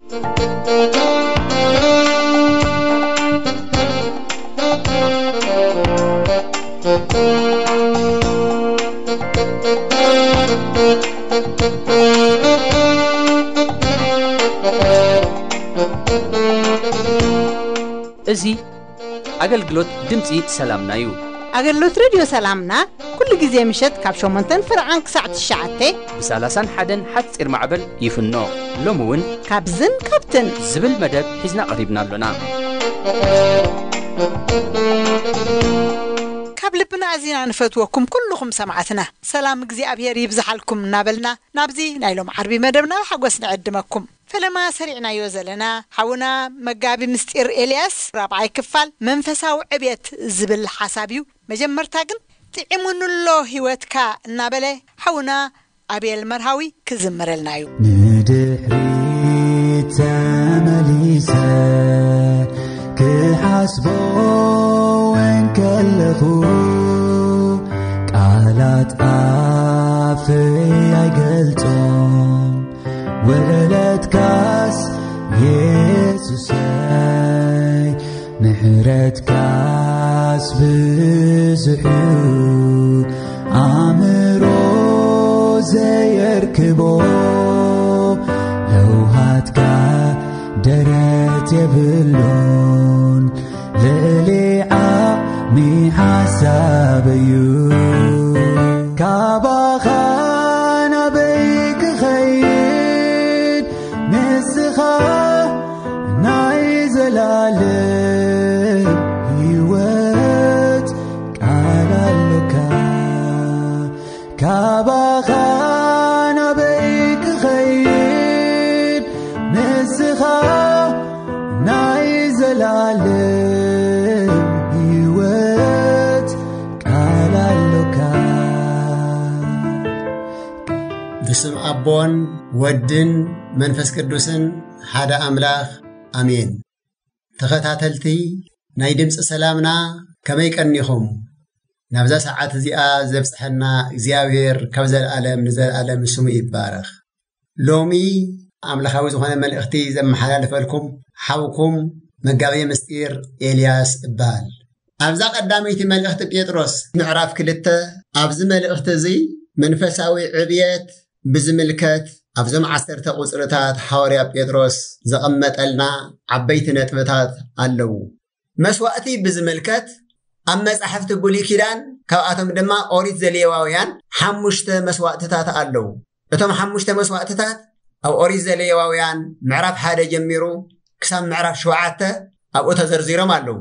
እዚ ኣገልግሎት ድምፂ ሰላምና እዩ። ኣገልግሎት ሬድዮ ሰላምና ኩሉ ግዜ ምሸት ካብ ሸሞንተን ፍርዓን ክሳዕ ትሽዓተ ብ30ን ሓደን ሓፂር ማዕበል ይፍኖ። ሎሚ እውን ካብዝን ካብትን ዝብል መደብ ሒዝና ቀሪብና ኣሎና። ካብ ልብና ኣዚና ንፈትወኩም ኩልኹም ሰማዕትና፣ ሰላም እግዚኣብሔር ይብዝሓልኩም እናበልና ናብዚ ናይ ሎም ዓርቢ መደብና ብሓጎስ ንዕድመኩም። ፈለማ ሰሪዕናዮ ዘለና ሓውና መጋቢ ምስጢር ኤልያስ ራብዓይ ክፋል መንፈሳዊ ዕብየት ዝብል ሓሳብ እዩ። መጀመርታ ግን ጥዒሙንሎ ህይወትካ እናበለ ሓውና ኣቤል መርሃዊ ክዝምረልና እዩ። ንድሕሪት ተመሊሰ ክሓስቦ እንከለኹ፣ ቃላት ኣፈይ ኣይገልጾም። ውዕለትካስ የሱሰይ፣ ምሕረትካስ ብዙሕ እዩ፣ ኣእምሮ ዘየርክቦ። ለውሃትካ ደረት የብሉን፣ ልዕሊ ዓቕሚ ሓሳብ እዩ። ካባኻ ናበይ ክኸይድ? ንስኻ ናይ ዘላለም ህይወት ቃል ኣሎካ። ካባኻ ናበይ ክኸይድ? ንስኻ ናይ ዘላለም ህይወት ቃል ኣሎካ። ብስም ኣቦን ወድን መንፈስ ቅዱስን ሓደ ኣምላኽ ኣሜን። ተኸታተልቲ ናይ ድምፂ ሰላምና፣ ከመይ ቀኒኹም? ናብዛ ሰዓት እዚኣ ዘብፅሐና እግዚኣብሔር ካብ ዘለዓለም ንዘለዓለም ስሙ ይባረኽ። ሎሚ ኣምላኻዊ ዝኾነ መልእኽቲ ዘመሓላልፈልኩም ሓውኩም መጋቤ ምስጢር ኤልያስ እበሃል። ኣብዛ ቀዳመይቲ መልእኽቲ ጴጥሮስ ምዕራፍ ክልተ፣ ኣብዚ መልእኽቲ እዚ መንፈሳዊ ዕብየት ብዝምልከት ኣብዞም ዓሰርተ ቁጽርታት ሃዋርያ ጴጥሮስ ዘቐመጠልና ዓበይቲ ነጥብታት ኣለዉ። መስዋእቲ ብዝምልከት ኣብ መጻሕፍቲ ብሉይ ኪዳን፣ ካብኣቶም ድማ ኦሪት ዘሌዋውያን ሓሙሽተ መስዋእትታት ኣለዉ። እቶም ሓሙሽተ መስዋእትታት ኣብ ኦሪት ዘሌዋውያን ምዕራፍ ሓደ ጀሚሩ ክሳብ ምዕራፍ ሸውዓተ ኣብኡ ተዘርዚሮም ኣለዉ።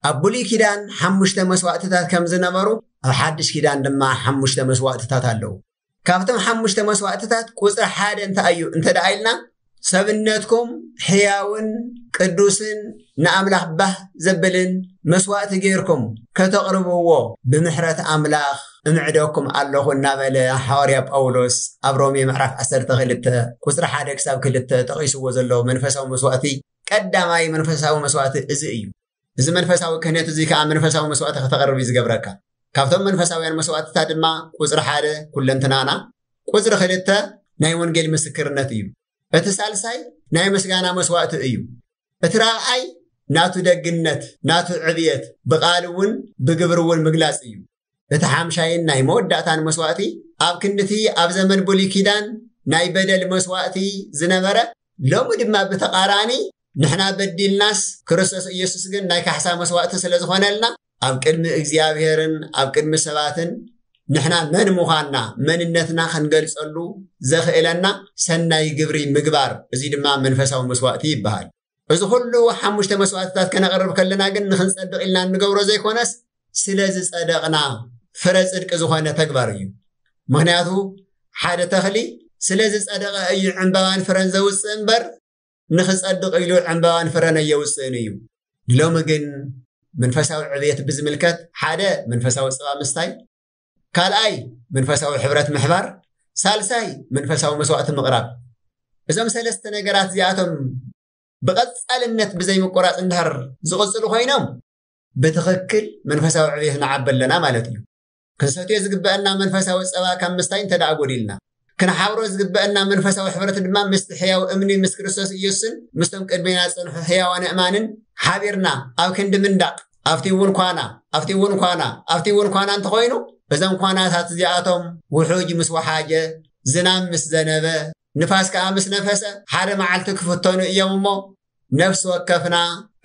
ኣብ ብሉይ ኪዳን ሓሙሽተ መስዋእትታት ከም ዝነበሩ፣ ኣብ ሓድሽ ኪዳን ድማ ሓሙሽተ መስዋእትታት ኣለዉ። ካብቶም ሓሙሽተ መስዋእትታት ቁጽሪ ሓደ እንታይ እዩ እንተ ደኣ ኢልና፣ ሰብነትኩም ሕያውን ቅዱስን ንኣምላኽ ባህ ዘብልን መስዋእቲ ጌርኩም ከተቕርብዎ ብምሕረት ኣምላኽ እምዕደኩም ኣለኹ እናበለ ሃዋርያ ጳውሎስ ኣብ ሮሜ ምዕራፍ ዓሰርተ ክልተ ቁጽሪ ሓደ ክሳብ ክልተ ጠቒስዎ ዘሎ መንፈሳዊ መስዋእቲ ቀዳማይ መንፈሳዊ መስዋእቲ እዚ እዩ። እዚ መንፈሳዊ ክህነት እዚ ከኣ መንፈሳዊ መስዋእቲ ከተቕርብ እዩ ዝገብረካ። ካብቶም መንፈሳውያን መስዋእትታት ድማ ቁጽሪ ሓደ ኩለንትናና፣ ቁጽሪ ክልተ ናይ ወንጌል ምስክርነት እዩ። እቲ ሳልሳይ ናይ ምስጋና መስዋእቲ እዩ። እቲ ራብዓይ ናቱ ደግነት፣ ናቱ ዕብየት ብቓል እውን ብግብሪ እውን ምግላጽ እዩ። እቲ ሓምሻይን ናይ መወዳእታን መስዋእቲ ኣብ ክንድቲ ኣብ ዘመን ብሉይ ኪዳን ናይ በደል መስዋእቲ ዝነበረ፣ ሎሚ ድማ ብተቓራኒ ንሕና በዲልናስ ክርስቶስ ኢየሱስ ግን ናይ ካሕሳ መስዋእቲ ስለ ዝኾነልና፣ ኣብ ቅድሚ እግዚኣብሔርን ኣብ ቅድሚ ሰባትን ንሕና መን ምዃንና፣ መንነትና ክንገልጸሉ ዘኽእለና ሰናይ ግብሪ ምግባር፣ እዚ ድማ መንፈሳዊ መስዋእቲ ይበሃል። እዚ ኩሉ ሓሙሽተ መስዋእትታት ከነቕርብ ከለና ግን ንኽንጸድቕ ኢልና እንገብሮ ዘይኮነስ፣ ስለ ዝጸደቕና ፍረ ጽድቂ ዝኾነ ተግባር እዩ። ምኽንያቱ ሓደ ተኽሊ ስለ ዝጸደቐ እዩ ዕምባባን ፍረን ዘውጽእ እምበር፣ ንኽጸድቕ ኢሉ ዕምባባን ፍረን ኣየውጽእን እዩ። ሎሚ ግን መንፈሳዊ ዕብየት ብዝምልከት፣ ሓደ መንፈሳዊ ጽባ ምስታይ፣ ካልኣይ መንፈሳዊ ሕብረት ምሕባር፣ ሳልሳይ መንፈሳዊ መስዋእቲ ምቕራብ። እዞም ሰለስተ ነገራት እዚኣቶም ብቐጻልነት ብዘይምቁራጽ እንድሕር ዝቕጽሉ ኮይኖም፣ ብትኽክል መንፈሳዊ ዕብየት ንዓቢ ኣለና ማለት እዩ። ክንሰትዮ ዝግበአና መንፈሳዊ ጸባ ካብ ምስታይ እንተ ደኣ ጎዲልና፣ ክንሓብሮ ዝግበአና መንፈሳዊ ሕብረት ድማ ምስቲ ሕያው እምኒ ምስ ክርስቶስ ኢየሱስን ምስቶም ቅድሜና ዝጸንሑ ሕያዋን ኣእማንን ሓቢርና ኣብ ክንዲ ምንዳቕ፣ ኣብቲ እውን ኳና፣ ኣብቲ እውን ኳና፣ ኣብቲ እውን ኳና እንተኾይኑ፣ እዞም ኳናታት እዚኣቶም ውሑጅ ምስ ወሓጀ፣ ዝናም ምስ ዘነበ፣ ንፋስ ከኣ ምስ ነፈሰ፣ ሓደ መዓልቲ ክፍተኑ እዮም እሞ፣ ነፍሲ ወከፍና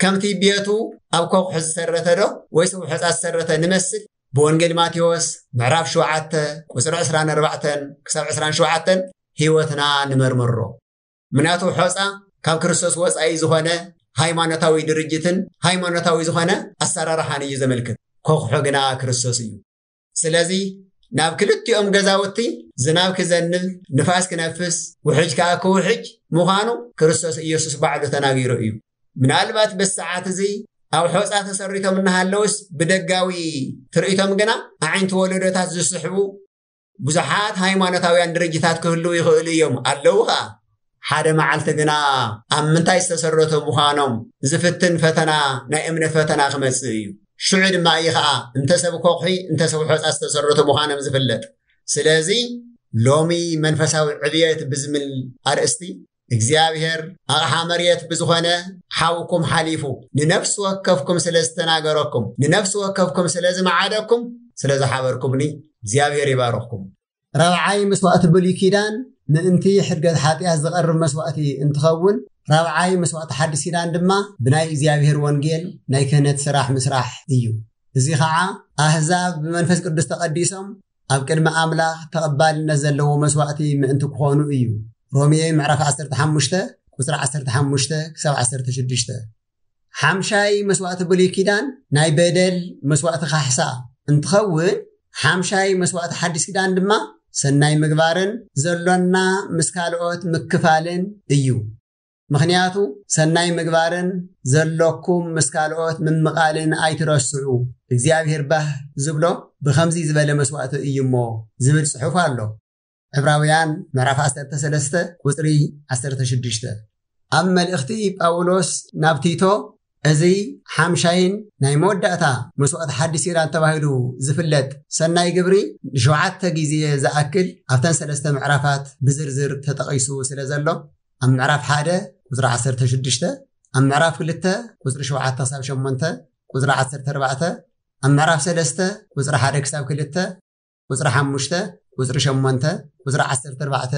ከምቲ ቤቱ ኣብ ኮኽሑ ዝሰረተ ዶ ወይስ ኣብ ሑጻ ዝሰረተ ንመስል? ብወንጌል ማቴዎስ ምዕራፍ ሸውዓተ ቁጽሪ ዕስራን ኣርባዕተን ክሳብ ዕስራን ሸውዓተን ህይወትና ንመርምሮ። ምክንያቱ ሖጻ ካብ ክርስቶስ ወጻኢ ዝኾነ ሃይማኖታዊ ድርጅትን ሃይማኖታዊ ዝኾነ ኣሰራርሓን እዩ ዘመልክት። ኮኽሑ ግና ክርስቶስ እዩ። ስለዚ ናብ ክልቲኦም ገዛውቲ ዝናብ ክዘንብ፣ ንፋስ ክነፍስ፣ ውሕጅ ከኣ ክውሕጅ ምዃኑ ክርስቶስ ኢየሱስ ባዕሉ ተናጊሩ እዩ። ምናልባት በዚ ሰዓት እዚ ኣብ ሖጻ ተሰሪቶም እናሃለውስ ብደጋዊ ትርኢቶም ግና ኣዒንቲ ወለዶታት ዝስሕቡ ብዙሓት ሃይማኖታውያን ድርጅታት ክህልዉ ይኽእሉ እዮም፣ ኣለዉ ኸኣ። ሓደ መዓልቲ ግና ኣብ ምንታይ ዝተሰረቱ ምዃኖም ዝፍትን ፈተና፣ ናይ እምነት ፈተና ክመጽእ እዩ። ሽዑ ድማ እዩ ኸኣ እንተ ሰብ ኮኽሒ እንተ ሰብ ሖጻ ዝተሰረቱ ምዃኖም ዝፍለጥ። ስለዚ ሎሚ መንፈሳዊ ዕብየት ብዝምል ኣርእስቲ እግዚኣብሔር ኣቕሓ መሬት ብዝኾነ ሓውኩም ሓሊፉ ንነፍሲ ወከፍኩም ስለ ዝተናገረኩም፣ ንነፍሲ ወከፍኩም ስለ ዝመዓደኩም፣ ስለ ዝሓበርኩምኒ እግዚኣብሔር ይባርኽኩም። ራብዓይ መስዋእቲ ብሉይ ኪዳን ምእንቲ ሕድገት ሓጢኣት ዝቐርብ መስዋእቲ እንትኸውን፣ ራብዓይ መስዋእቲ ሓዲስ ኪዳን ድማ ብናይ እግዚኣብሔር ወንጌል ናይ ክህነት ስራሕ ምስራሕ እዩ። እዚ ኸዓ ኣህዛብ ብመንፈስ ቅዱስ ተቐዲሶም ኣብ ቅድሚ ኣምላኽ ተቐባልነት ዘለዎ መስዋእቲ ምእንቲ ክኾኑ እዩ። ሮሜ ምዕራፍ ዓሰርተ ሓሙሽተ ቁጽሪ ዓሰርተ ሓሙሽተ ክሳብ ዓሰርተ ሽዱሽተ። ሓምሻይ መስዋእቲ ብሉይ ኪዳን ናይ በደል መስዋእቲ ካሕሳ እንትኸውን፣ ሓምሻይ መስዋእቲ ሓዲስ ኪዳን ድማ ሰናይ ምግባርን ዘሎና ምስ ካልኦት ምክፋልን እዩ። ምኽንያቱ ሰናይ ምግባርን ዘሎኩም ምስ ካልኦት ምምቓልን ኣይትረስዑ፣ እግዚኣብሔር ባህ ዝብሎ ብኸምዚ ዝበለ መስዋእቲ እዩ እሞ ዝብል ጽሑፍ ኣሎ። ዕብራውያን ምዕራፍ ዓሰርተ ሰለስተ ቁጽሪ ዓሰርተ ሽዱሽተ። ኣብ መልእኽቲ ጳውሎስ ናብ ቲቶ፣ እዚ ሓምሻይን ናይ መወዳእታ መስዋእቲ ሓዲስ ኪዳን ተባሂሉ ዝፍለጥ ሰናይ ግብሪ ንሸውዓተ ግዜ ዝኣክል ኣብተን ሰለስተ ምዕራፋት ብዝርዝር ተጠቒሱ ስለ ዘሎ፣ ኣብ ምዕራፍ ሓደ ቁጽሪ ዓሰርተ ሽዱሽተ፣ ኣብ ምዕራፍ ክልተ ቁጽሪ ሸውዓተ ክሳብ ሸሞንተ፣ ቁጽሪ ዓሰርተ ኣርባዕተ፣ ኣብ ምዕራፍ ሰለስተ ቁጽሪ ሓደ ክሳብ ክልተ፣ ቁጽሪ ሓሙሽተ፣ ቁጽሪ ሸሞንተ፣ ቁጽሪ ዓሰርተ ኣርባዕተ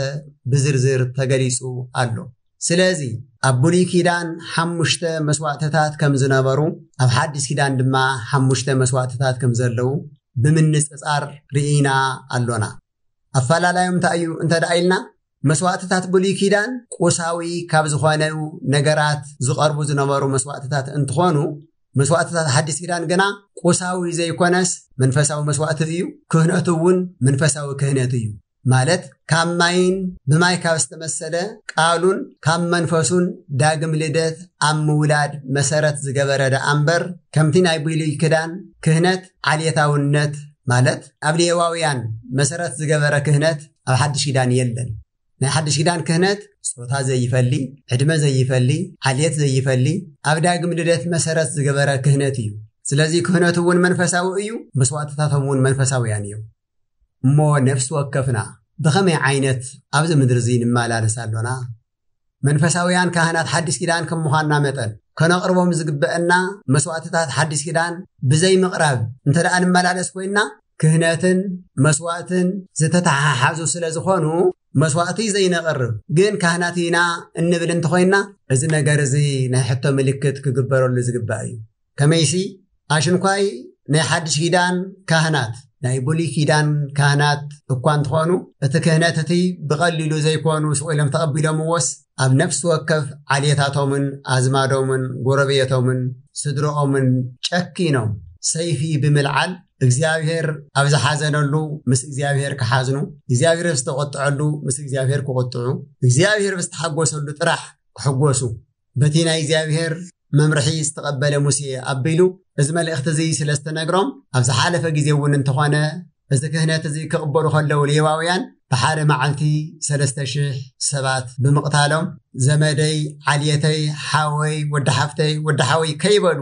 ብዝርዝር ተገሊጹ ኣሎ። ስለዚ ኣብ ብሉይ ኪዳን ሓሙሽተ መስዋእትታት ከም ዝነበሩ፣ ኣብ ሓዲስ ኪዳን ድማ ሓሙሽተ መስዋእትታት ከም ዘለዉ ብምንጽጻር ርኢና ኣሎና። ኣፈላላዮም እንታይ እዩ እንተ ደኣ ኢልና፣ መስዋእትታት ብሉይ ኪዳን ቁሳዊ ካብ ዝኾነዩ ነገራት ዝቐርቡ ዝነበሩ መስዋእትታት እንትኾኑ፣ መስዋእትታት ሓዲስ ኪዳን ግና ቁሳዊ ዘይኮነስ መንፈሳዊ መስዋእቲ እዩ። ክህነቱ እውን መንፈሳዊ ክህነት እዩ። ማለት ካብ ማይን ብማይ ካብ ዝተመሰለ ቃሉን ካብ መንፈሱን ዳግም ልደት ኣብ ምውላድ መሰረት ዝገበረ ደኣ እምበር፣ ከምቲ ናይ ብሉይ ኪዳን ክህነት ዓሌታውነት፣ ማለት ኣብ ሌዋውያን መሰረት ዝገበረ ክህነት ኣብ ሓድሽ ኪዳን የለን። ናይ ሓድሽ ኪዳን ክህነት ጾታ ዘይፈሊ፣ ዕድመ ዘይፈሊ፣ ዓሌት ዘይፈሊ፣ ኣብ ዳግም ልደት መሰረት ዝገበረ ክህነት እዩ። ስለዚ ክህነቱ እውን መንፈሳዊ እዩ፣ መስዋእትታቶም እውን መንፈሳውያን እዮም። እሞ ነፍሲ ወከፍና ብኸመይ ዓይነት ኣብዚ ምድሪ እዚ ንመላለስ ኣሎና? መንፈሳውያን ካህናት ሓድሽ ኪዳን ከም ምዃንና መጠን፣ ከነቕርቦም ዝግበአና መስዋእትታት ሓድሽ ኪዳን ብዘይ ምቕራብ እንተ ደኣ ንመላለስ ኮይንና፣ ክህነትን መስዋእትን ዝተተሓሓዙ ስለ ዝኾኑ፣ መስዋእቲ ዘይነቕርብ ግን ካህናት ኢና እንብል እንተኾይንና፣ እዚ ነገር እዚ ናይ ሕቶ ምልክት ክግበረሉ ዝግባእ እዩ። ከመይሲ፣ ኣሽንኳይ ናይ ሓድሽ ኪዳን ካህናት፣ ናይ ብሉይ ኪዳን ካህናት እኳ እንተኾኑ፣ እቲ ክህነት እቲ ብቐሊሉ ዘይኮኑ ስቕ ኢሎም ተቐቢሎምዎስ፣ ኣብ ነፍሲ ወከፍ ዓሌታቶምን ኣዝማዶምን ጎረቤቶምን ስድረኦምን ጨኪኖም ሰይፊ ብምልዓል፣ እግዚኣብሔር ኣብ ዝሓዘነሉ ምስ እግዚኣብሔር ክሓዝኑ፣ እግዚኣብሔር ኣብ ዝተቖጥዐሉ ምስ እግዚኣብሔር ክቑጥዑ፣ እግዚኣብሔር ኣብ ዝተሓጎሰሉ ጥራሕ ክሕጎሱ፣ በቲ ናይ እግዚኣብሔር መምርሒ ዝተቐበለ ሙሴ ኣቢሉ እዚ መልእኽቲ እዚ ስለ ዝተነግሮም፣ ኣብ ዝሓለፈ ግዜ እውን እንተኾነ፣ እዚ ክህነት እዚ ክቕበሉ ከለዉ ሌዋውያን ብሓደ መዓልቲ ሰለስተ ሽሕ ሰባት ብምቕታሎም፣ ዘመደይ፣ ዓልየተይ፣ ሓወይ፣ ወዲ ሓፍተይ፣ ወዲ ሓወይ ከይበሉ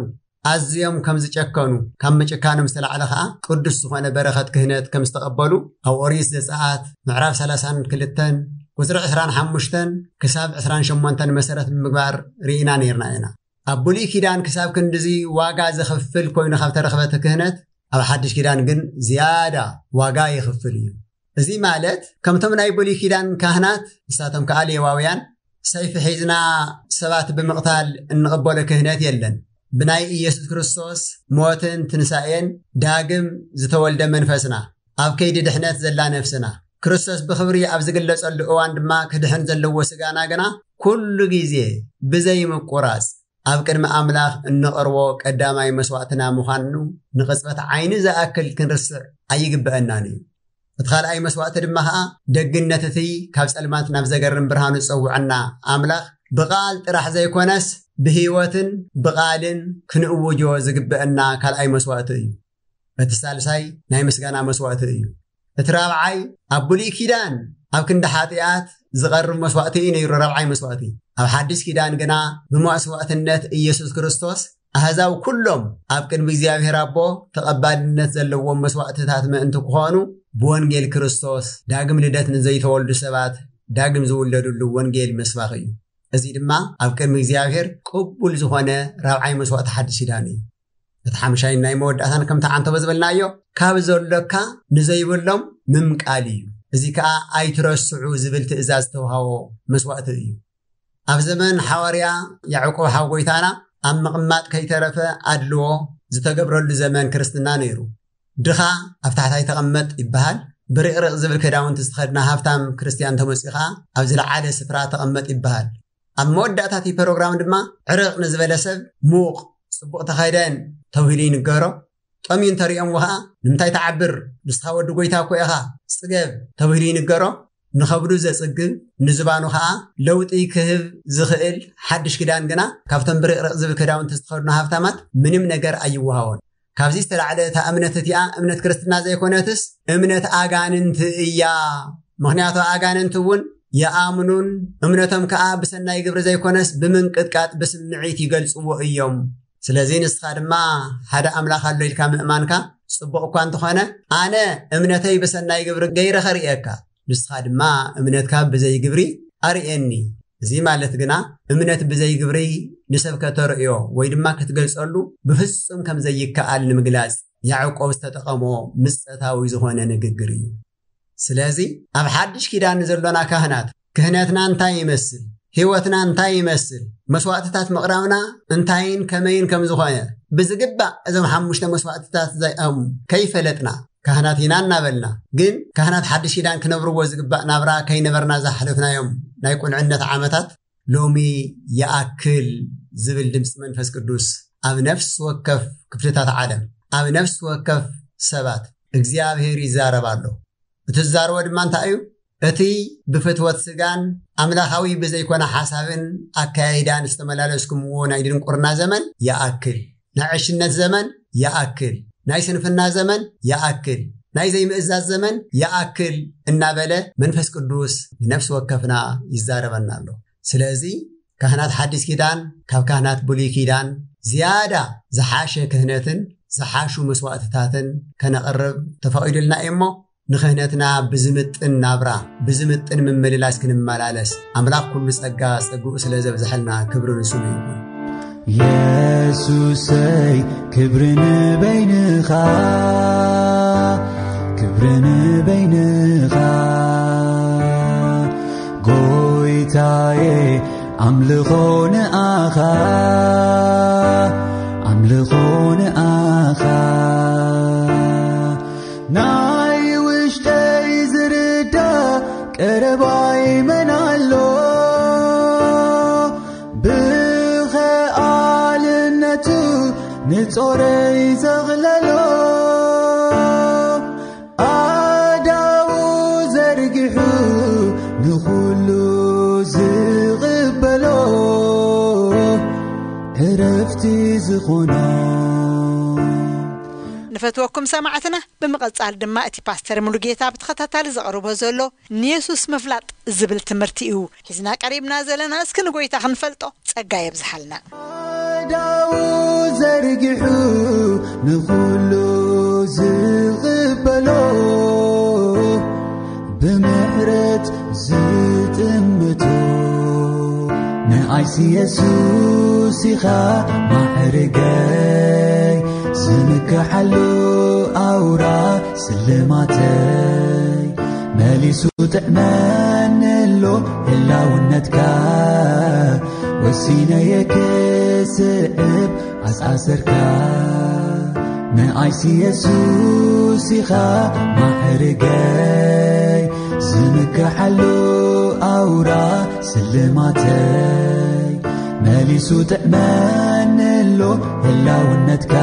ኣዝዮም ከም ዝጨከኑ፣ ካብ ምጭካኖም ዝተላዕለ ኸኣ ቅዱስ ዝኾነ በረኸት ክህነት ከም ዝተቐበሉ ኣብ ኦሪት ዘጸኣት ምዕራፍ ሰላሳን ክልተን ቁጽሪ ዕስራን ሓሙሽተን ክሳብ ዕስራን ሸሞንተን መሰረት ብምግባር ርኢና ነይርና ኢና። ኣብ ብሉይ ኪዳን ክሳብ ክንድዚ ዋጋ ዘኽፍል ኮይኑ ካብ ተረኽበ እቲ ክህነት፣ ኣብ ሓድሽ ኪዳን ግን ዝያዳ ዋጋ የኽፍል እዩ። እዚ ማለት ከምቶም ናይ ብሉይ ኪዳን ካህናት፣ ንሳቶም ከኣ ሌዋውያን፣ ሰይፊ ሒዝና ሰባት ብምቕታል እንቕበሎ ክህነት የለን። ብናይ ኢየሱስ ክርስቶስ ሞትን ትንሳኤን ዳግም ዝተወልደ መንፈስና፣ ኣብ ከይዲ ድሕነት ዘላ ነፍስና፣ ክርስቶስ ብኽብሪ ኣብ ዝግለጸሉ እዋን ድማ ክድሕን ዘለዎ ስጋና ግና ኩሉ ግዜ ብዘይምቁራጽ ኣብ ቅድሚ ኣምላኽ እንቐርቦ ቀዳማይ መስዋእትና ምዃኑ ንቕጽበት ዓይኒ ዝኣክል ክንርስዕ ኣይግብአናን እዩ። እቲ ካልኣይ መስዋእቲ ድማ ኸኣ ደግነት እቲ ካብ ጸልማት ናብ ዘገርም ብርሃኑ ዝጸውዐና ኣምላኽ ብቓል ጥራሕ ዘይኮነስ ብህይወትን ብቓልን ክንእውጆ ዝግብአና ካልኣይ መስዋእቲ እዩ። እቲ ሳልሳይ ናይ ምስጋና መስዋእቲ እዩ። እቲ ራብዓይ ኣብ ብሉይ ኪዳን ኣብ ክንዲ ሓጢኣት ዝቐርብ መስዋእቲ እዩ ነይሩ፣ ራብዓይ መስዋእቲ። ኣብ ሓድሽ ኪዳን ግና ብመስዋእትነት ኢየሱስ ክርስቶስ ኣህዛብ ኩሎም ኣብ ቅድሚ እግዚኣብሔር ኣቦ ተቐባልነት ዘለዎም መስዋእትታት ምእንቲ ክኾኑ ብወንጌል ክርስቶስ ዳግም ልደት ንዘይተወልዱ ሰባት ዳግም ዝውለዱሉ ወንጌል መስባኽ እዩ። እዚ ድማ ኣብ ቅድሚ እግዚኣብሔር ቅቡል ዝኾነ ራብዓይ መስዋእቲ ሓድሽ ኪዳን እዩ። እቲ ሓምሻይን ናይ መወዳእታን ከምቲ ዓንተቦ ዝበልናዮ፣ ካብ ዘሎካ ንዘይብሎም ምምቃል እዩ። እዚ ከኣ ኣይትረስዑ ዝብል ትእዛዝ ዝተውሃቦ መስዋእቲ እዩ። ኣብ ዘመን ሓዋርያ ያዕቆብ ሓው ጎይታና ኣብ ምቕማጥ ከይተረፈ ኣድልዎ ዝተገብረሉ ዘመን ክርስትና ነይሩ። ድኻ ኣብ ታሕታይ ተቐመጥ ይበሃል። ብርቕርቕ ዝብል ክዳውንቲ ዝተኸድና ሃብታም ክርስትያን ተመጺኡ ኸኣ ኣብ ዝለዓለ ስፍራ ተቐመጥ ይበሃል። ኣብ መወዳእታ እቲ ፕሮግራም ድማ ዕርቕ ንዝበለ ሰብ ሙቕ፣ ጽቡቕ ተኸደን ተባሂሉ ይንገሮ። ጠምዩ እንተሪኦምዎ ኸኣ ንምንታይ ትዓብር? ንስኻ ወዲ ጎይታ እኮ ኢኻ፣ ጽገብ ተባሂሉ ይንገሮ። ንኸብዱ ዘጽግብ፣ ንዝባኑ ኸኣ ለውጢ ክህብ ዝኽእል ሓድሽ ክዳን ግና ካብቶም ብርቕርቕ ዝብል ክዳውንቲ ዝተኸድኑ ሃብታማት ምንም ነገር ኣይወሃቦን። ካብዚ ዝተላዕለ እታ እምነት እቲኣ እምነት ክርስትና ዘይኮነትስ እምነት ኣጋንንቲ እያ። ምኽንያቱ ኣጋንንቲ እውን ይኣምኑን እምነቶም ከኣ ብሰናይ ግብሪ ዘይኮነስ ብምንቅጥቃጥ ብስምዒት ይገልጽዎ እዮም። ስለዚ ንስኻ ድማ ሓደ ኣምላኽ ኣሎ ኢልካ ምእማንካ ጽቡቕ እኳ እንተኾነ፣ ኣነ እምነተይ ብሰናይ ግብሪ ገይረ ኸርእየካ፣ ንስኻ ድማ እምነትካ ብዘይ ግብሪ ኣርእየኒ። እዚ ማለት ግና እምነት ብዘይ ግብሪ ንሰብ ከተርእዮ ወይ ድማ ክትገልጸሉ ብፍጹም ከም ዘይከኣል ንምግላጽ ያዕቆብ ዝተጠቐሞ ምጸታዊ ዝኾነ ንግግር እዩ። ስለዚ ኣብ ሓድሽ ኪዳን ዘሎና ካህናት ክህነትና እንታይ ይመስል? ህይወትና እንታይ ይመስል? መስዋእትታት ምቕራብና እንታይን ከመይን ከም ዝኾነ ብዝግባእ እዞም ሓሙሽተ መስዋእትታት እዚኦም ከይፈለጥና ካህናት ኢና እናበልና ግን ካህናት ሓድሽ ኪዳን ክነብርዎ ዝግባእ ናብራ ከይነበርና ዝሓለፍናዮም ናይ ቁልዕነት ዓመታት ሎሚ ይኣክል ዝብል ድምፂ መንፈስ ቅዱስ ኣብ ነፍሲ ወከፍ ክፍልታት ዓለም ኣብ ነፍሲ ወከፍ ሰባት እግዚኣብሔር ይዛረብ ኣሎ። እቲ ዝዛረቦ ድማ እንታይ እዩ? እቲ ብፍትወት ስጋን ኣምላኻዊ ብዘይኮነ ሓሳብን ኣከያይዳን ዝተመላለስኩምዎ ናይ ድንቁርና ዘመን ይኣክል። ናይ ዕሽነት ዘመን ይኣክል። ናይ ስንፍና ዘመን ይኣክል። ናይ ዘይምእዛዝ ዘመን ይኣክል እናበለ መንፈስ ቅዱስ ንነፍሲ ወከፍና ይዛረበና ኣሎ። ስለዚ ካህናት ሓዲስ ኪዳን ካብ ካህናት ብሉይ ኪዳን ዝያዳ ዝሓሸ ክህነትን ዝሓሹ መስዋእትታትን ከነቕርብ ተፈቒዱልና እዩ እሞ ንክህነትና ብዝምጥን ናብራ ብዝምጥን ምምልላስ ክንመላለስ ኣምላኽ ኩሉ ጸጋ ጸግኡ ስለ ዘብዝሐልና ክብሪ ንስሙ ይኹን። የሱሰይ ክብሪ ንበይንኻ ክብሪ ንበይንኻ ጎይታየ ኣምልኾ ንኣኻ ኣምልኾ ንኣኻ ናይ ውሽጠይ ዝርዳ ቀረባይ መን ኣሎ ብኸኣልነቱ ንጾረይ ዘቕለሎ ኣዳዉ ዘርጊሑ ንኹሉ ዝቕበሎ ዕረፍቲ ዝኾኖ ንፈትወኩም ሰማዕትና ብምቕጻል ድማ እቲ ፓስተር ሙሉጌታ ብተኸታታሊ ዘቕርቦ ዘሎ ንየሱስ ምፍላጥ ዝብል ትምህርቲ እዩ ሒዝና ቀሪብና ዘለና እስኪ ንጎይታ ክንፈልጦ ጸጋ የብዝሓልና ዳው ዘርጊሑ ንኹሉ ዝቕበሎ፣ ብምሕረት ዝጥምቶ። ንኣይሲ የሱስ ኢኻ ማዕርገይ፣ ዝምከሓሉ ኣውራ ስልማተይ። መሊሱ ጥዕመኒ ኣሎ ህላውነትካ፣ ወሲነየ ክስዕብ ኣስኣሰርካ። ንኣይሲ የሱስ ኢኻ ማዕርገይ፣ ዝምከሓሉ ኣውራ ስልማተይ። መሊሱ ጥዕመኒ ኣሎ ህላውነትካ፣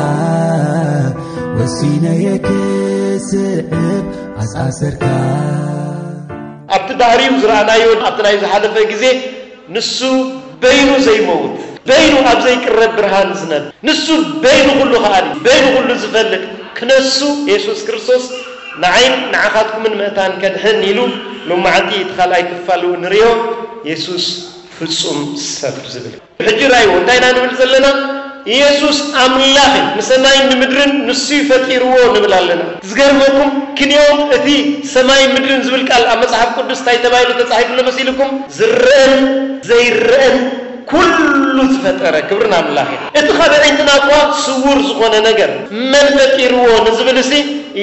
ወሲነየ ክስዕብ ኣስኣሰርካ። ኣብቲ ባህሪኡ ዝረኣናዮ ኣብቲ ናይ ዝሓለፈ ግዜ፣ ንሱ በይኑ ዘይመውት፣ በይኑ ኣብ ዘይቅረብ ብርሃን ዝነብ፣ ንሱ በይኑ ኩሉ ከኣሊ፣ በይኑ ኩሉ ዝፈልጥ ክነሱ የሱስ ክርስቶስ ንዓይን ንዓኻትኩምን መእታን ከድሕን ኢሉ ሎማዓንቲ እቲ ካልኣይ ክፋሉ ንሪኦ። የሱስ ፍጹም ሰብ ዝብል ሕጂ ራእይዎ እንታይ ኢና ንብል ዘለና? ኢየሱስ ኣምላኽ እዩ፣ ንሰማይን ንምድርን ንሱ እዩ ፈጢርዎ ንብል ኣለና። ዝገርመኩም ክንዮም እቲ ሰማይን ምድርን ዝብል ቃል ኣብ መጽሓፍ ቅዱስ እንታይ ተባሂሉ ተጻሒፉ ኣሎ መሲልኩም? ዝረአን ዘይረአን ኩሉ ዝፈጠረ። ክብሪ ንኣምላኽ እዩ። እቲ ካብ ኣዒንትና እኳ ስውር ዝኾነ ነገር መን ፈጢርዎ ንዝብል እሲ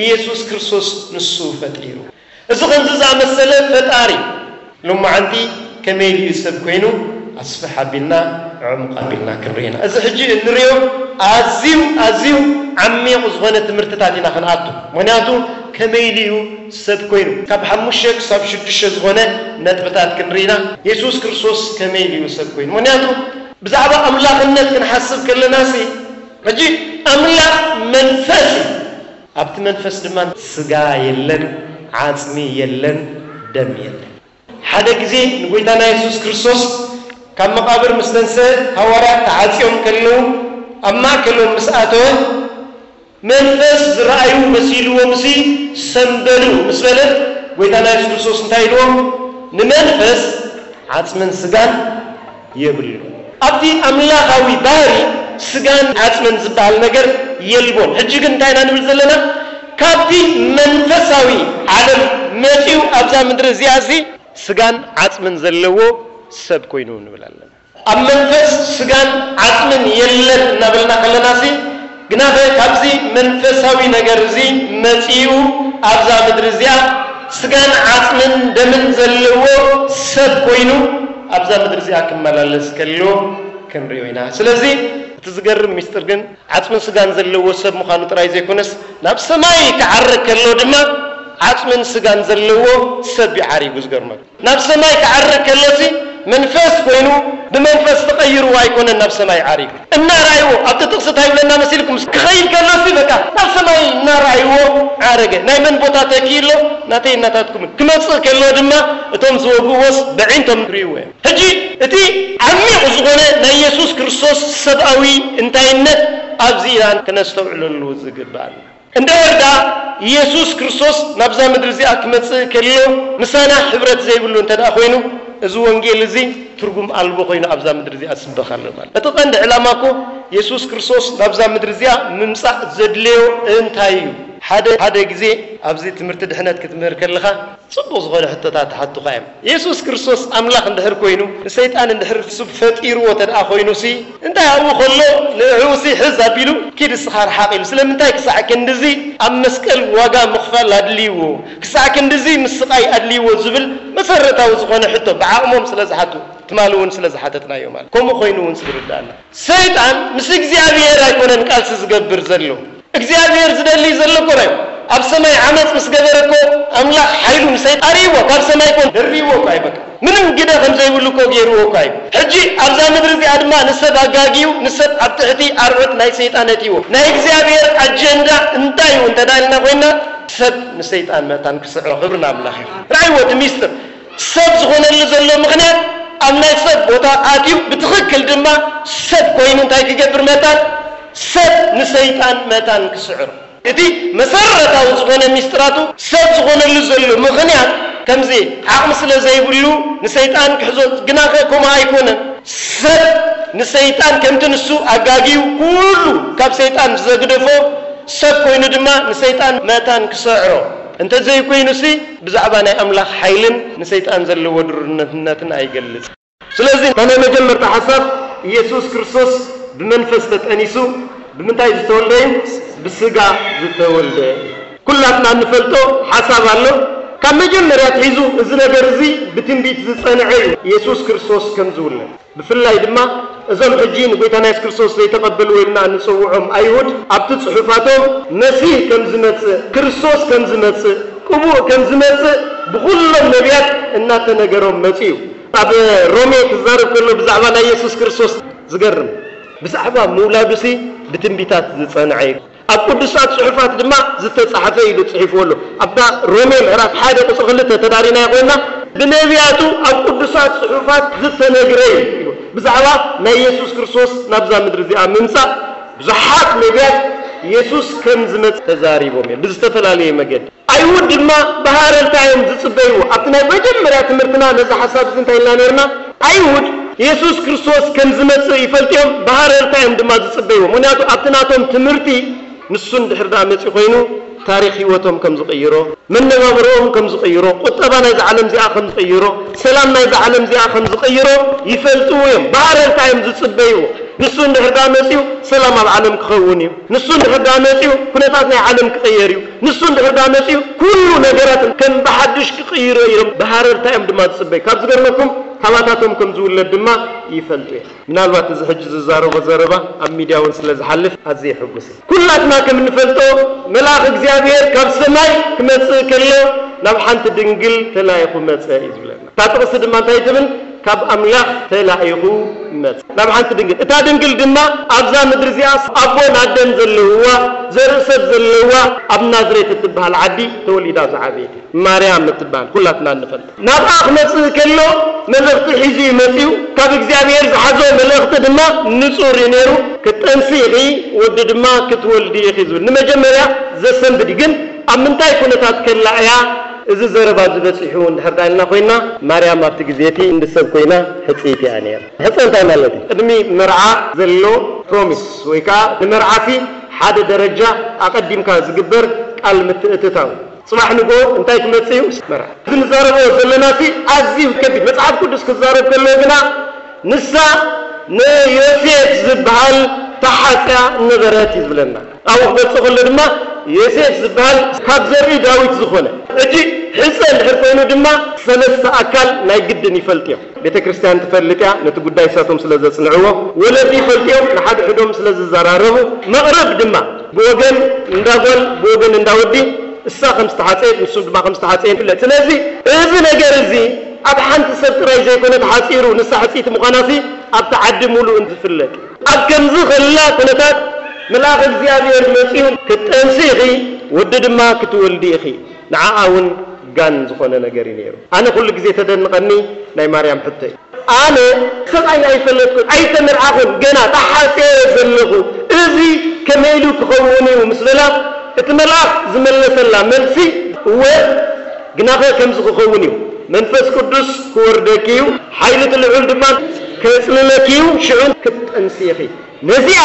ኢየሱስ ክርስቶስ ንሱ ፈጢሩ። እዚ ከምዚ ዝኣመሰለ ፈጣሪ ሎማዓንቲ ከመይ ኢሉ እዩ ሰብ ኮይኑ ኣስፍሕ ኣቢልና ዕሙቕ ኣቢልና ክንርኢ ኢና። እዚ ሕጂ እንሪኦ ኣዝዩ ኣዝዩ ዓሚቕ ዝኾነ ትምህርትታት ኢና ክንኣቱ። ምኽንያቱ ከመይ ኢሉ እዩ ሰብ ኮይኑ ካብ ሓሙሽተ ክሳብ ሽዱሽተ ዝኾነ ነጥብታት ክንርኢ ኢና። የሱስ ክርስቶስ ከመይ ኢሉ እዩ ሰብ ኮይኑ? ምኽንያቱ ብዛዕባ ኣምላኽነት ክንሓስብ ከለና ሲ ሕጂ ኣምላኽ መንፈስ እዩ። ኣብቲ መንፈስ ድማ ስጋ የለን፣ ዓጽሚ የለን፣ ደም የለን። ሓደ ግዜ ንጎይታና የሱስ ክርስቶስ ካብ መቓብር ምስ ተንሰ ሃዋርያት ተዓጽዮም ከለዉ ኣብ ማእከሎም ምስ ኣተወ መንፈስ ዝረኣዩ መሲልዎም ሲ ሰምበሉ ምስ በለ ጎይታና የሱስ ክርስቶስ እንታይ ኢልዎም? ንመንፈስ ዓጽምን ስጋን የብሉ። ኣብቲ ኣምላኻዊ ባህሪ ስጋን ዓጽምን ዝበሃል ነገር የልቦን። ሕጂ ግን እንታይ ኢና ንብል ዘለና? ካብቲ መንፈሳዊ ዓለም መጺኡ ኣብዛ ምድሪ እዚኣ እዚ ስጋን ዓጽምን ዘለዎ ሰብ ኮይኑ ንብል ኣለና። ኣብ መንፈስ ስጋን ዓጽምን የለን እናበልና ከለና ሲ ግናኸ ካብዚ መንፈሳዊ ነገር እዚ መጺኡ ኣብዛ ምድሪ እዚኣ ስጋን ዓጽምን ደምን ዘለዎ ሰብ ኮይኑ ኣብዛ ምድሪ እዚኣ ክመላለስ ከሎ ክንሪኦ ኢና። ስለዚ እቲ ዝገርም ሚስጥር ግን ዓጽምን ስጋን ዘለዎ ሰብ ምዃኑ ጥራይ ዘይኮነስ ናብ ሰማይ ክዓርግ ከሎ ድማ ዓጽምን ስጋን ዘለዎ ሰብ እዩ ዓሪጉ። ዝገርመ ናብ ሰማይ ክዓርግ ከሎሲ መንፈስ ኮይኑ ብመንፈስ ተቐይርዎ ኣይኮነን ናብ ሰማይ ዓሪጉ። እናረኣይዎ ኣብቲ ጥቕሲ እንታይ ይብለና መሲልኩም? ክኸይድ ከሎሲ በቃ ናብ ሰማይ እናረኣይዎ ዓረገ። ናይ መን ቦታ ተኪኡ ኣሎ? ናተይ እናታትኩምን። ክመጽእ ከሎ ድማ እቶም ዝወግእዎስ በዒንቶም ክርእይዎ እዮም። ሕጂ እቲ ዓሚቕ ዝኾነ ናይ የሱስ ክርስቶስ ሰብኣዊ እንታይነት ኣብዚ ኢና ክነስተውዕለሉ ዝግባእ። እንድሕር ደኣ የሱስ ክርስቶስ ናብዛ ምድሪ እዚኣ ክመጽእ ከሎ ምሳና ሕብረት ዘይብሉ እንተ ደኣ ኮይኑ፣ እዚ ወንጌል እዚ ትርጉም ኣልቦ ኮይኑ ኣብዛ ምድሪ እዚኣ ዝስበኽ ኣሎ ማለት። እቲ ቀንዲ ዕላማ እኮ የሱስ ክርስቶስ ናብዛ ምድሪ እዚኣ ምምጻእ ዘድለዮ እንታይ እዩ? ሓደ ሓደ ግዜ ኣብዚ ትምህርቲ ድሕነት ክትምህር ከለኻ ጽቡቕ ዝኾነ ሕቶታት ትሓቱኻ እዮም። የሱስ ክርስቶስ ኣምላኽ እንድሕር ኮይኑ፣ ንሰይጣን እንድሕር ንሱ ፈጢርዎ እንተ ደኣ ኮይኑሲ፣ እንታይ ኣብኡ ከሎ ንዕኡሲ ሕዝ ኣቢሉ፣ "ኪድ እስኻ ርሓቕ" ኢሉ? ስለምንታይ ክሳዕ ክንድዚ ኣብ መስቀል ዋጋ ምኽፋል ኣድልይዎ? ክሳዕ ክንድዚ ምስቓይ ኣድልይዎ? ዝብል መሰረታዊ ዝኾነ ሕቶ ብዓቕሞም ስለ ዝሓቱ፣ ትማሊ እውን ስለ ዝሓተትናዮ ማለት። ከምኡ ኮይኑ እውን ዝርዳእና። ሰይጣን ምስ እግዚኣብሔር ኣይኮነን ቃልሲ ዝገብር ዘሎ። እግዚኣብሔር ዝደሊ ዘሎ እኮ ናይ ኣብ ሰማይ ዓመፅ ምስ ገበረ እኮ ኣምላኽ ሓይሉ ንሰይጣን ኣርእይዎ፣ ካብ ሰማይ እኮ ደርብዎ እኮ ኣይበቃ። ምንም ግደ ከም ዘይብሉ እኮ ገይርዎ እኮ እዩ። ሕጂ ኣብዛ ምድሪ እዚኣ ድማ ንሰብ ኣጋጊዩ፣ ንሰብ ኣብ ትሕቲ ኣርዑት ናይ ሰይጣን ኣእትይዎ። ናይ እግዚኣብሔር ኣጀንዳ እንታይ እዩ እንተ ደኣ ኢልና ኮይና፣ ሰብ ንሰይጣን መታን ክስዕሮ። ክብሪ ንኣምላኽ ይኹን። ርኣይዎ እቲ ሚስጥር። ሰብ ዝኾነሉ ዘሎ ምኽንያት ኣብ ናይ ሰብ ቦታ ኣትዩ ብትኽክል ድማ ሰብ ኮይኑ እንታይ ክገብር መታን? ሰብ ንሰይጣን መታን ክስዕሮ። እቲ መሰረታዊ ዝኾነ ሚስጥራቱ ሰብ ዝኾነሉ ዘሎ ምኽንያት ከምዚ ዓቕሚ ስለ ዘይብሉ ንሰይጣን ክሕዞ ግናኸ ከምኡ ኣይኮነን። ሰብ ንሰይጣን ከምቲ ንሱ ኣጋግዩ ኩሉ ካብ ሰይጣን ዘግደፎ ሰብ ኮይኑ ድማ ንሰይጣን መታን ክሰዕሮ እንተዘይኮይኑሲ ብዛዕባ ናይ ኣምላኽ ሓይልን ንሰይጣን ዘለዎ ድሩነትነትን ኣይገልጽ። ስለዚ እታ ናይ መጀመርታ ሓሳብ ኢየሱስ ክርስቶስ ብመንፈስ ተጠኒሱ ብምንታይ ዝተወልደ እዩ? ብስጋ ዝተወልደ። ኩላትና እንፈልጦ ሓሳብ ኣሎ። ካብ መጀመርያ ኣትሒዙ እዚ ነገር እዚ ብትንቢት ዝጸንዐ እዩ ኢየሱስ ክርስቶስ ከም ዝውለድ። ብፍላይ ድማ እዞም ሕጂ ንጎይታና የሱስ ክርስቶስ ዘይተቐበልዎ ኢልና እንጽውዖም ኣይሁድ ኣብቲ ጽሑፋቶም መሲህ ከም ዝመጽእ፣ ክርስቶስ ከም ዝመጽእ፣ ቅቡእ ከም ዝመጽእ ብኹሎም ነቢያት እናተነገሮም መጺኡ። ኣብ ሮሜ ክዛረብ ከሎ ብዛዕባ ናይ የሱስ ክርስቶስ ዝገርም ብዛዕባ ምውላዱሲ ብትንቢታት ዝጸንዐ እዩ። ኣብ ቅዱሳት ጽሑፋት ድማ ዝተጻሕፈ ኢሉ ጽሒፍዎ ኣሎ። ኣብታ ሮሜ ምዕራፍ ሓደ ቁጽሪ ክልተ ተዳሪናዮ ኮይና ብነቢያቱ ኣብ ቅዱሳት ጽሑፋት ዝተነግረ እዩ ኢሉ። ብዛዕባ ናይ የሱስ ክርስቶስ ናብዛ ምድሪ እዚኣ ምምጻእ ብዙሓት ነቢያት የሱስ ከም ዝመጽእ ተዛሪቦም እዮም ብዝተፈላለየ መገዲ። ኣይሁድ ድማ ብሃረርታ እዮም ዝጽበይዎ። ኣብቲ ናይ መጀመርያ ትምህርትና ነዚ ሓሳብ እዚ እንታይ ኢልና ነርና? ኣይሁድ የሱስ ክርስቶስ ከም ዝመጽእ ይፈልጡ እዮም፣ ብሃረርታ እዮም ድማ ዝጽበይዎ። ምክንያቱ ኣብቲ ናቶም ትምህርቲ ንሱ እንድሕር ደኣ መጺኡ ኮይኑ ታሪኽ ህይወቶም ከም ዝቕይሮ፣ መነባብሮኦም ከም ዝቕይሮ፣ ቁጠባ ናይዛ ዓለም እዚኣ ከም ዝቕይሮ፣ ሰላም ናይዛ ዓለም እዚኣ ከም ዝቕይሮ ይፈልጥዎ እዮም። ብሃረርታ እዮም ዝጽበይዎ። ንሱ እንድሕር ደኣ መጺኡ ሰላም ኣብ ዓለም ክኸውን እዩ። ንሱ እንድሕር ደኣ መጺኡ ኩነታት ናይ ዓለም ክቕየር እዩ። ንሱ እንድሕር ደኣ መጺኡ ኩሉ ነገራት ከም ብሓድሽ ክቕይሮ እዮም። ብሃረርታ እዮም ድማ ዝጽበዩ። ካብ ዝገርመኩም ካባታቶም ከም ዝውለድ ድማ ይፈልጡ እዮም። ምናልባት እዚ ሕጂ ዝዛረቦ ዘረባ ኣብ ሚድያ እውን ስለ ዝሓልፍ ኣዝየ ሕጉስ እየ። ኩላትና ከም እንፈልጦ መልኣኽ እግዚኣብሔር ካብ ሰማይ ክመጽእ ከሎ ናብ ሓንቲ ድንግል ተላኢኹ መጸ እዩ ዝብለና። እታ ጥቕሲ ድማ እንታይ ትብል? ካብ ኣምላኽ ተላኢኹ መጸ ናብ ሓንቲ ድንግል። እታ ድንግል ድማ ኣብዛ ምድሪ እዚኣ ኣቦን ኣደን ዘለውዋ ዘርኢ ሰብ ዘለውዋ ኣብ ናዝሬት እትበሃል ዓዲ ተወሊዳ ዝዓበየት እያ። ማርያም እትበሃል ኩላትና እንፈልጣ። ናብኣ ክመጽእ ከሎ መልእኽቲ ሒዙ እዩ መጺኡ። ካብ እግዚኣብሔር ዝሓዞ መልእኽቲ ድማ ንጹር እዩ ነይሩ። ክትጠንሲ ኢኺ፣ ወዲ ድማ ክትወልዲ ኢኺ ዝብል። ንመጀመርያ ዘሰንብድ እዩ። ግን ኣብ ምንታይ ኩነታት ከላ እያ እዚ ዘረባ እዚ በጺሑ እንድሕር ደኣ ኢልና ኮይና፣ ማርያም ኣብቲ ግዜ እቲ እንዲ ሰብ ኮይና ሕጽይቲ እያ ነይራ። ሕጸ እንታይ ማለት እዩ? ቅድሚ መርዓ ዘሎ ፕሮሚስ ወይ ከኣ ንመርዓሲ ሓደ ደረጃ ኣቐዲምካ ዝግበር ቃል ምትእትታው። ጽባሕ ንግሆ እንታይ ክመጽእ እዩ? መርዓ። እዚ ንዛረቦ ዘለናሲ ኣዝዩ ከቢድ። መጽሓፍ ቅዱስ ክዛረብ ከሎ ግና ንሳ ንዮሴፍ ዝበሃል ተሓጽያ ነበረት እዩ ዝብለና። ኣብኡ ክገልጾ ከሎ ድማ ዮሴፍ ዝበሃል ካብ ዘርኢ ዳዊት ዝኾነ። ሕጂ ሕጸ እንድሕር ኮይኑ ድማ ሰለስተ ኣካል ናይ ግድን ይፈልጥዮ። ቤተ ክርስቲያን ትፈልጥ እያ፣ ነቲ ጉዳይ እሳቶም ስለ ዘጽንዕዎ። ወለዲ ይፈልጥዮም፣ ንሓድሕዶም ስለ ዝዘራረቡ። መቕረብ ድማ ብወገን እንዳ ጓል፣ ብወገን እንዳ ወዲ፣ እሳ ከም ዝተሓጸየት፣ ንሱ ድማ ከም ዝተሓጸየ ይፍለጥ። ስለዚ እዚ ነገር እዚ ኣብ ሓንቲ ሰብ ጥራይ ዘይኮነ ተሓጺሩ፣ ንሳ ሕጽይቲ ምዃናሲ ኣብቲ ዓዲ ሙሉእ ዝፍለጥ። ኣብ ከምዚ ከላ ኩነታት መልኣኽ እግዚኣብሔር መጺኡ፣ "ክትጠንሲ ኢኺ፣ ወዲ ድማ ክትወልዲ ኢኺ." ንዓኣ እውን ጋን ዝኾነ ነገር እዩ ነይሩ። ኣነ ኩሉ ግዜ ተደንቐኒ ናይ ማርያም ሕቶ እዩ። ኣነ ሰብኣይ ኣይፈለጥኩን፣ ኣይተመርዓኹን፣ ገና ተሓጽየ ዘለኹ። እዚ ከመይ ኢሉ ክኸውን እዩ ምስ በላ፣ እቲ መልኣኽ ዝመለሰላ መልሲ፣ "እወ፣ ግናኸ ከምዚ ክኸውን እዩ፣ መንፈስ ቅዱስ ክወርደኪ እዩ፣ ሓይሊ እቲ ልዑል ድማ ከጽልለኪ እዩ፣ ሽዑ ክትጠንሲ ኢኺ።" ነዚኣ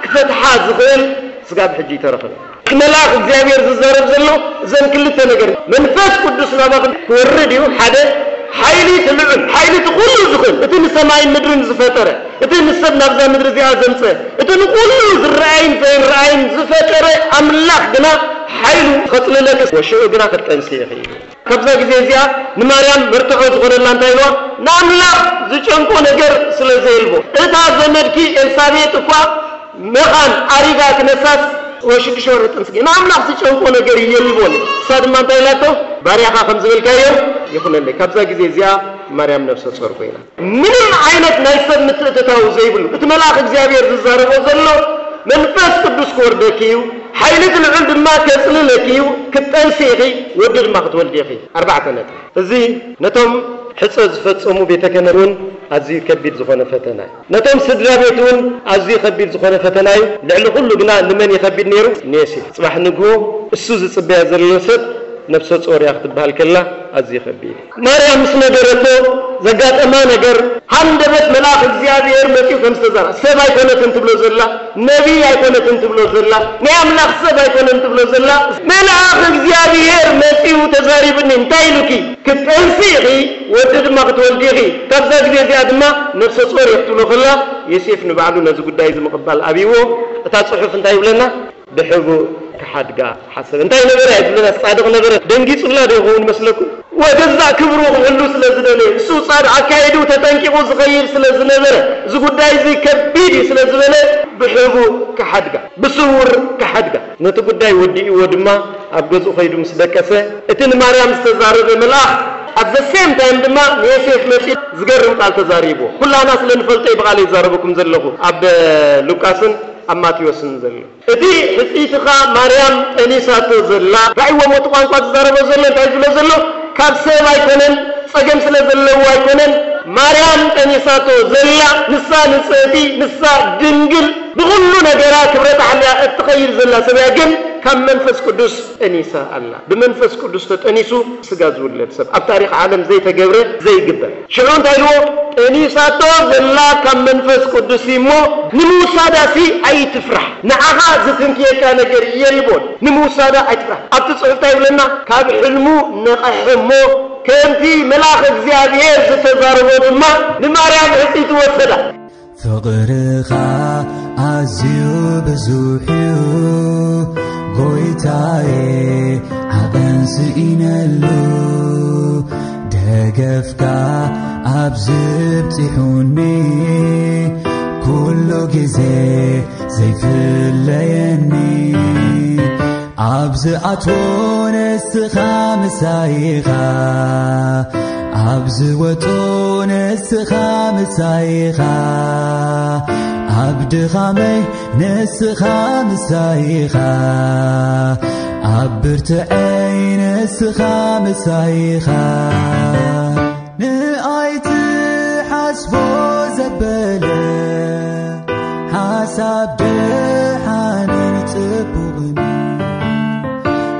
ክፈትሓ ዝኽእል ስጋብ ሕጂ ይተረኽበ። እቲ መልኣኽ እግዚኣብሔር ዝዛረብ ዘሎ እዘን ክልተ ነገር፣ መንፈስ ቅዱስ ናባኹም ክወርድ እዩ፣ ሓደ፣ ሓይሊ እቲ ልዑል፣ ሓይሊ እቲ ኩሉ ዝኽእል፣ እቲ ንሰማይን ምድርን ዝፈጠረ፣ እቲ ንሰብ ናብዛ ምድሪ እዚኣ ዘምጸ፣ እቲ ንኩሉ ዝረኣይን ዘይረኣይን ዝፈጠረ ኣምላኽ ግና ሓይሉ ከጽልለኪ፣ ወሽዑ ግና ክትጠንሲ ኢኺ። ካብዛ ግዜ እዚኣ ንማርያም መርትዖ ዝኾነላ እንታይ ኢልዋ? ንኣምላኽ ዝጨንቆ ነገር ስለ ዘየልቦ። እታ ዘመድኪ ኤልሳቤጥ እኳ መኻን ኣሪጋ ክነሳስ ወይ ሽዱሽተ ወርሒ ጥንሲ ገይራ። ንኣምላኽ ዝጨንቆ ነገር የልቦን። እሳ ድማ እንታይ ኢላቶ? "ባርያኻ ከም ዝበልካዮ ይኹነለይ።" ካብዛ ግዜ እዚኣ ማርያም ነፍሰ ጾር ኮይና። ምንም ዓይነት ናይ ሰብ ምትእትታው ዘይብሉ፣ እቲ መልኣኽ እግዚኣብሔር ዝዛረቦ ዘሎ፣ "መንፈስ ቅዱስ ክወርደኪ እዩ፣ ሓይሊ እቲ ልዑል ድማ ከጽልለኪ እዩ፣ ክትጠንሲ ኢኺ፣ ወዲ ድማ ክትወልዲ ኢኺ።" ኣርባዕተ ነጥቢ። እዚ ነቶም ሕጸ ዝፈጸሙ ቤተ ክህነት እውን ኣዝዩ ከቢድ ዝኾነ ፈተና እዩ። ነቶም ስድራ ቤት እውን ኣዝዩ ከቢድ ዝኾነ ፈተና እዩ። ልዕሊ ኩሉ ግና ንመን እዩ ከቢድ ነይሩ? ንዮሴፍ። ጽባሕ ንግሆ እሱ ዝጽበያ ዘሎ ሰብ ነፍሰ ጾር እያ ክትበሃል ከላ ኣዝዩ ከቢድ እዩ። ማርያም ምስ ነገረቶ ዘጋጠማ ነገር፣ ሃንደበት መልኣኽ እግዚኣብሔር መጺኡ ከም ዝተዛራ፣ ሰብ ኣይኮነትን ትብሎ ዘላ፣ ነቢይ ኣይኮነትን ትብሎ ዘላ፣ ናይ ኣምላኽ ሰብ ኣይኮነን ትብሎ ዘላ፣ መልኣኽ እግዚኣብሔር መጺኡ ተዛሪብኒ። እንታይ ኢሉኪ? ክትጠንሲ ኢኺ፣ ወዲ ድማ ክትወልዲ ኢኺ። ካብዛ ግዜ እዚኣ ድማ ነፍሰ ጾር እየ ክትብሎ ከላ፣ ዮሴፍ ንባዕሉ ነዚ ጉዳይ እዚ ምቕባል ኣብይዎ። እታ ጽሑፍ እንታይ ይብለና? ብሕቡእ ክሓድጋ ሓሰበ። እንታይ ነበረ? ኣይትብለና፣ ጻድቕ ነበረ። ደንጊጹላ ዶ ይኸውን መስለኩም? ወገዛእ ክብሩ ክሕሉ ስለ ዝደለየ፣ እሱ ጻድቕ ኣካይዱ ተጠንቂቑ ዝኸይድ ስለ ዝነበረ፣ እዚ ጉዳይ እዚ ከቢድ እዩ ስለ ዝበለ፣ ብሕቡእ ክሓድጋ፣ ብስውር ክሓድጋ። ነቲ ጉዳይ ወዲእዎ ድማ ኣብ ገዝኡ ኸይዱ ምስ ደቀሰ፣ እቲ ንማርያም ዝተዛረበ መልኣኽ፣ at the same time ድማ ንዮሴፍ መጺኡ ዝገርም ቃል ተዛሪብዎ። ኩላና ስለ ንፈልጦ እዩ ብቓል ይዛረበኩም ዘለኹ፣ ኣብ ሉቃስን ኣብ ማቴዎስን ዘሎ። እቲ ሕጽይትኻ ማርያም ጠኒሳቶ ዘላ፣ ራእይዎ ሞቲ ቋንቋ ዝዛረቦ ዘሎ እንታይ ዝብሎ ዘሎ? ካብ ሰብ ኣይኮነን፣ ጸገም ስለ ዘለዎ ኣይኮነን። ማርያም ጠኒሳቶ ዘላ፣ ንሳ ንጽህቲ፣ ንሳ ድንግል፣ ብኹሉ ነገራ ክብረታ ሓልያ እትኸይድ ዘላ ሰብ እያ፣ ግን ካብ መንፈስ ቅዱስ ጠኒሳ ኣላ። ብመንፈስ ቅዱስ ተጠኒሱ ስጋ ዝውለድ ሰብ ኣብ ታሪኽ ዓለም ዘይተገብረ፣ ዘይግበር። ሽዑ እንታይ ኢልዎ? ጠኒሳቶ ዘላ ካብ መንፈስ ቅዱስ እሞ ንምውሳዳሲ ኣይትፍራሕ። ንዓኻ ዝትንክየካ ነገር የልቦን። ንምውሳዳ ኣይትፍራሕ። ኣብቲ ጽሑፍ እንታይ ይብለና? ካብ ሕልሙ ነቐሐ እሞ ከምቲ መልኣኽ እግዚኣብሔር ዝተዛረቦ ድማ ንማርያም ሕጽይቲ ወሰዳ። ፍቕርኻ ኣዝዩ ብዙሕ እዩ ጎይታዬ፣ ዓቐን ስኢነሉ። ደገፍካ ኣብ ዝብጺሑኒ፣ ኩሉ ግዜ ዘይፍለየኒ። ኣብ ዝኣትዎ ንስኻ ምሳይኻ፣ ኣብ ዝወጾ ንስኻ ምሳይኻ፣ ኣብ ድኻመይ ንስኻ ምሳይኻ፣ ኣብ ብርትዐይ ንስኻ ምሳይኻ። ንኣይ ትሓስቦ ዘበለ ሓሳብ ደሓንን ጽቡቕን፣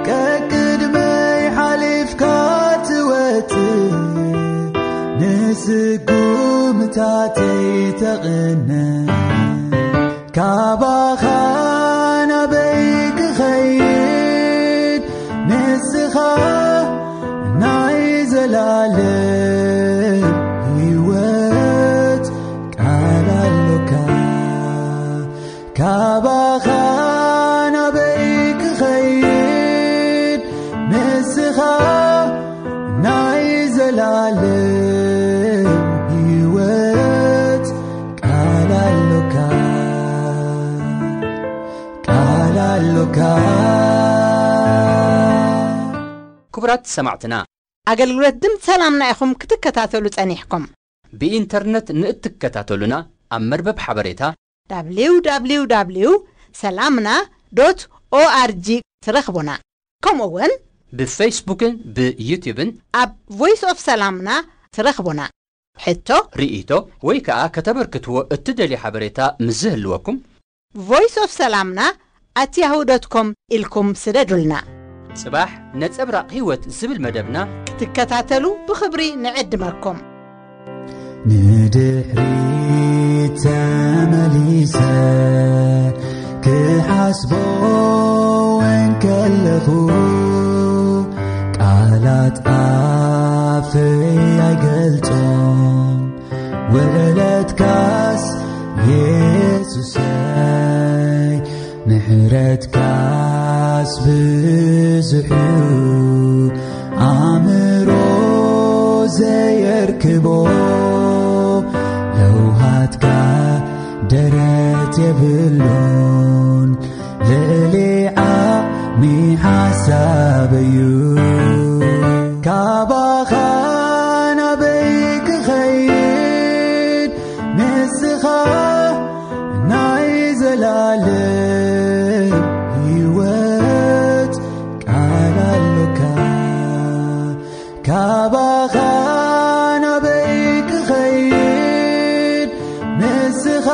ቀቅድመይ ሓሊፍካ ትወጽእ፣ ንስጉምታተይ ተቕነ። ካባኻ ናበይ ክኸይድ? ንስኻ ናይ ዘላለም ህይወት ቃል ኣሎካ። ካባኻ ናበይ ክኸይድ? ንስኻ ናይ ዘላለም ህይወት ቃል ኣሎካ፣ ቃል ኣሎካ። ክቡራት ሰማዕትና፣ ኣገልግሎት ድምፂ ሰላምና ኢኹም ክትከታተሉ ጸኒሕኩም። ብኢንተርነት ንእትከታተሉና፣ ኣብ መርበብ ሓበሬታ www ሰላምና ዶት ኦኣርጂ ትረኽቡና። ከምኡ እውን ብፌስቡክን ብዩትዩብን ኣብ ቮይስ ኦፍ ሰላምና ትረኽቡና። ሕቶ፣ ርእይቶ ወይ ከኣ ከተበርክትዎ እትደልዩ ሓበሬታ ምስ ዝህልወኩም፣ ቮይስ ኦፍ ሰላምና ኣት ያሁ ዶት ኮም ኢልኩም ስደዱልና። ጽባሕ ነጸብራቕ ህይወት ዝብል መደብና ክትከታተሉ ብኽብሪ ንዕድመኩም። ንድሕሪት ተመሊሰ ክሓስቦ እንከለኹ፣ ቃላት ኣፈይ ኣይገልጾም። ውዕለትካስ የሱሰይ፣ ምሕረትካስ ብዙሕ እዩ፣ ኣእምሮ ዘየርክቦ። ለውሃትካ ደረት የብሉን፣ ልዕሊ ዓቕሚ ሓሳብ እዩ። ካባኻ ናበይ ክኸይድ? ንስኻ ናይ ዘላለም ህይወት ቃል ኣሎካ። ካባኻ ናበይ ክኸይድ? ንስኻ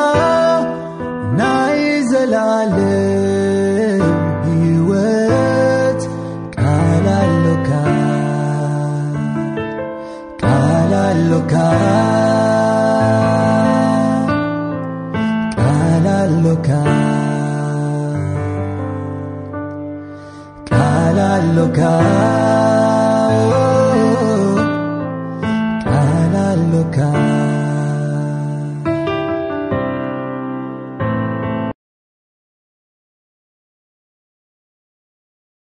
ናይ ዘላለም ህይወት ቃል ቃል ኣሎካ፣ ቃል ኣሎካ።